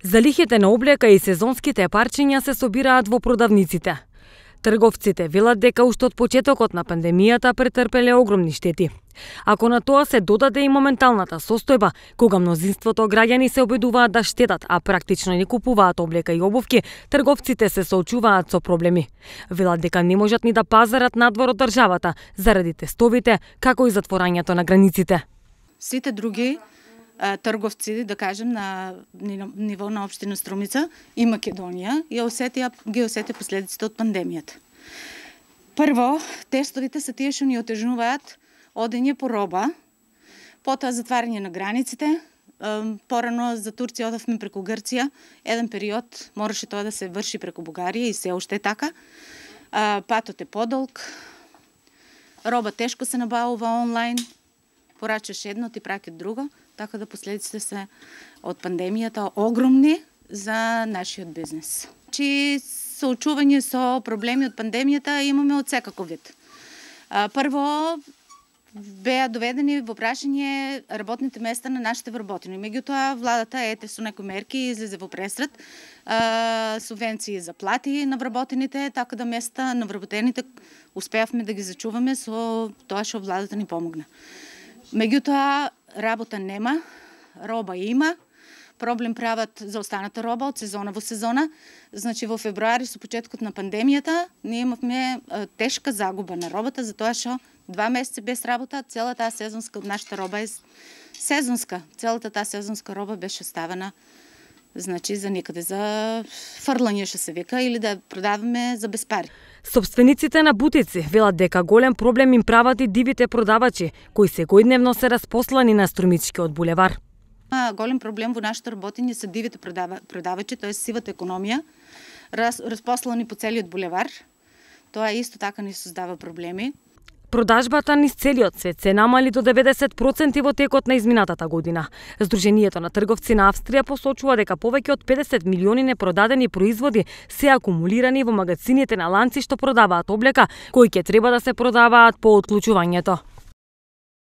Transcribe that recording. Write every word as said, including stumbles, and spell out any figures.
Залихите на облека и сезонските парчиња се собираат во продавниците. Трговците велат дека уште од почетокот на пандемијата претрпеле огромни штети. Ако на тоа се додаде и моменталната состојба, кога мнозинството граѓани се обидуваат да штедат, а практично не купуваат облека и обувки, трговците се соочуваат со проблеми. Велат дека не можат ни да пазарат надвор од државата заради тестовите, како и затворањето на границите. Сите други трговци, да кажем, на ниво на општина Струмица и Македонија и осетија, ги осетија последиците од пандемијата. Прво, тестовите се тие што ни отежнуваат одење по роба, потоа затварање на границите. Порано за Турција одавме преку Грција, еден период мораше тоа да се врши преку Бугарија и се уште така. Патот е подолг, роба тешко се набавува онлайн, порачаш едно, ти праќат друго, така да последиците се од пандемијата огромни за нашиот бизнес. Чи соочување со проблеми од пандемијата имаме од секаков вид. Прво, беа доведени во прашање работните места на нашите вработени. Меѓутоа, владата ете со некои мерки излезе во пресред, субвенции за плати на вработените, така да места на вработените успеавме да ги зачуваме со тоа што владата ни помогна. Меѓутоа, работа нема, роба има, проблем прават за останата роба од сезона во сезона. Значи во февруари со почетокот на пандемијата ние имавме тешка загуба на робата, затоа што два месеца без работа, целата таа сезонска од нашата роба е сезонска. Целата таа сезонска роба беше ставена значи за некаде за фрлање што се вика или да продаваме за без пари. Собствениците на бутици велат дека голем проблем им прават и дивите продавачи, кои секојдневно се распослани на Струмичкиот булевар. Голем проблем во нашето работење се дивите продава, продавачи, тоа е сивата економија, раз, распослани по целиот булевар. Тоа исто така ни создава проблеми. Продажбата низ целиот свет се намали до деветдесет проценти во текот на изминатата година. Сдруженијето на трговци на Австрија посочува дека повеќе од педесет милиони непродадени производи се акумулирани во магазините на ланци што продаваат облека, кои ќе треба да се продаваат по отклучувањето.